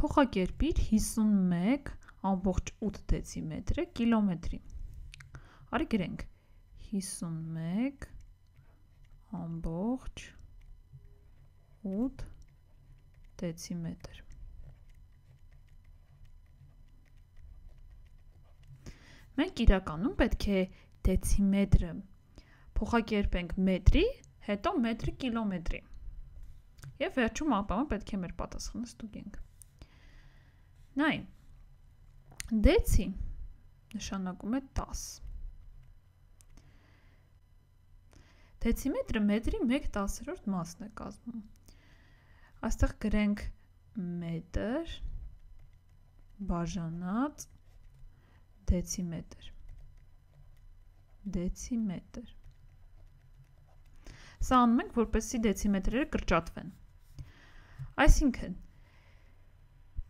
Փոխակերպիր 51.8 դեցիմետրը կիլոմետրի։ Արի գրենք 51.8 դեցիմետր։ Մենք իրականում պետք է դեցիմետրը փոխակերպենք մետրի, հետո մետրի կիլոմետրի։ Եվ վերջում ապա պետք է մեր պատասխանը ստուգենք։ Նայ, դեցի նշանակում է 10։ Դեցիմետրը մետրի 1/10 մասն է կազմում։ Այստեղ գրենք մետր բաժանած դեցիմետր։ Դեցիմետր։ Սա անում ենք, որպեսզի դեցիմետրերը կրճատվեն։ Այսինքն,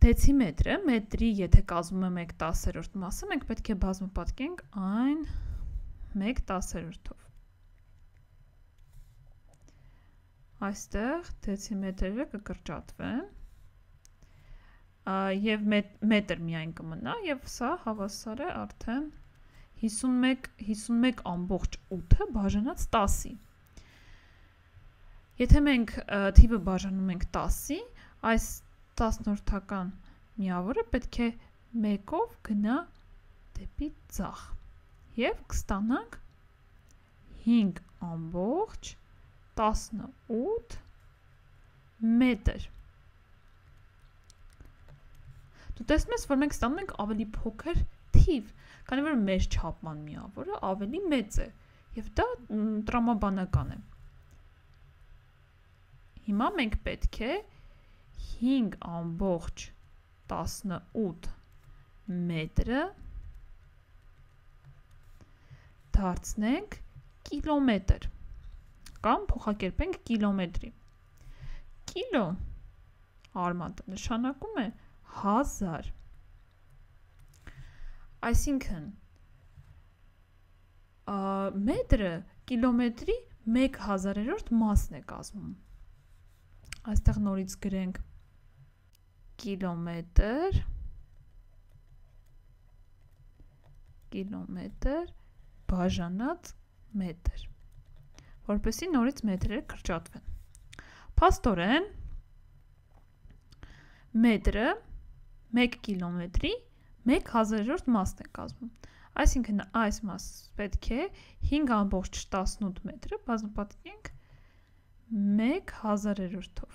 դեցիմետրը մետրի, եթե կազմում է 1/10 մասը, մենք պետք է բազմապատկենք այն 1/10-ով։ Այստեղ դեցիմետրերը կկրճատվեն և մետր միայն կմնա և սա հավասար է արդեն 51.8 բաժանած 10-ի։ Եթե մենք թիվը բաժանում ենք 10-ի, այս 10-որդական միավորը պետք է 1-ով գնա դեպի ձախ և կստանանք 5.18 մետր։ Դու տեսնում ես, որ մենք ստանում ենք ավելի փոքր թիվ, քանի որ մեր չափման միավորը ավելի մեծ է, և դա տրամաբանական է։ Հիմա մենք պետք է 5.18 մետրը դարձնենք կիլոմետր կամ փոխակերպենք կիլոմետրի։ Կիլո արմատը նշանակում է 1000։ Այսինքն, մետրը կիլոմետրի 1/1000 մասն է կազմում։ Այստեղ նորից գրենք կիլոմետր բաժանած մետր, որպեսզի նորից մետրերը կրճատվեն։ Փաստորեն, մետրը 1 կիլոմետրի 1/1000 մասն է կազմում։ Այսինքն, այս մասը պետք է 5.18 մետրը բազմապատկենք 1/1000-ով։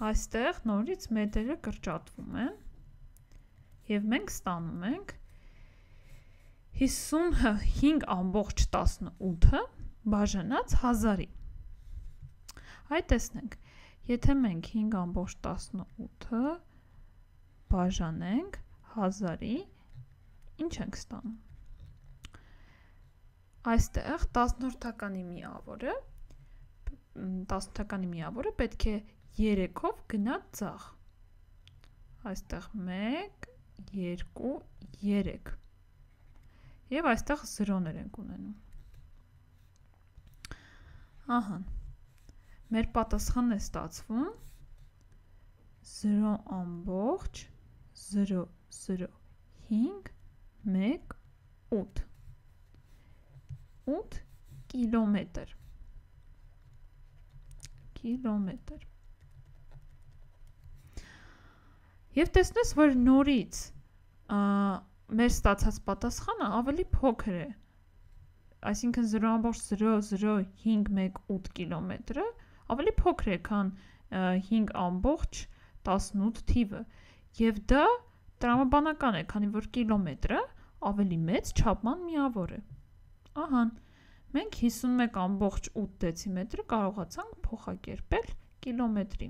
Այստեղ նորից մետրերը կրճատվում են և մենք ստանում ենք 5.18 բաժանած 1000-ի։ Այ տեսնենք, եթե մենք 5.18 բաժանենք 1000-ի, ինչ ենք ստանում։ Այստեղ 10-որդականի միավորը պետք է 3-ով գնա ձախ։ Այստեղ 1, 2, 3։ Եվ այստեղ 0-ներ ենք ունենում։ Ահա, մեր պատասխանն է ստացվում 0.00518 կիլոմետր։ Եվ տեսնես, որ նորից մեր ստացած պատասխանը ավելի փոքր է, այսինքն 0.00518 կիլոմետրը ավելի փոքր է, քան 5.18 թիվը, և դա տրամաբանական է, քանի որ կիլոմետրը ավելի մեծ չափման միավոր է։ Ահան, մենք 51.8 դեցիմետրը կարողացանք փոխակերպել կիլոմետրի։